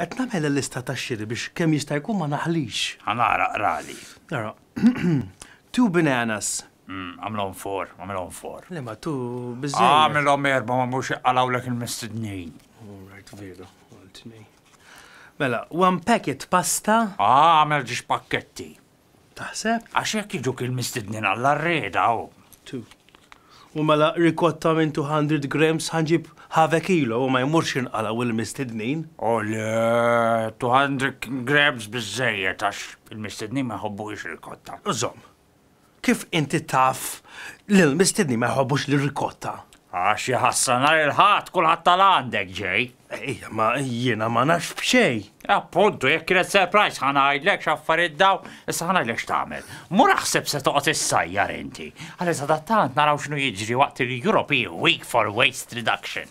Qed nagħmel il-lista tax-xiri biex kemm jista' jkun ma naħlix. Ħa nara, qrali. Ara. Two bananas. Għamilhom four, għamilhom four. Le ma two biżżejjed. Għamilhom erba' ma mhux iqalgħulek il-mistednin. All right, veru. Għal tnej. Mela, one packet pasta. Ah, għamel ġiex pakketti. Taħseb? Għax jekk jiġuk il-mistednin għall-arreda u. Two. U mela rikotta minn 200 grams ħa nġib half a kilo u ma jmurx inqalgħu il-mistednin. O le, 200 grams biżżejjed għax il-mistednin ma jħobbux rikotta. Żomm. Kif inti taf li l-mistednin ma jħobbux l-rikotta? Għax jaħasra nhar il-Ħadd kulħadd tal-għandek ġej. Ejja, ma jiena ma nafx b'xejn. Appuntu, jekk kienet surprise ħa ngħidlek x'affarijiet daw, issa ħa ngħidlek x'tagħmel. Mur aħseb se toqgħod issajjar inti. Għalli sadattant naraw x'inhu jiġri waqt il-European Week for Waste Reduction.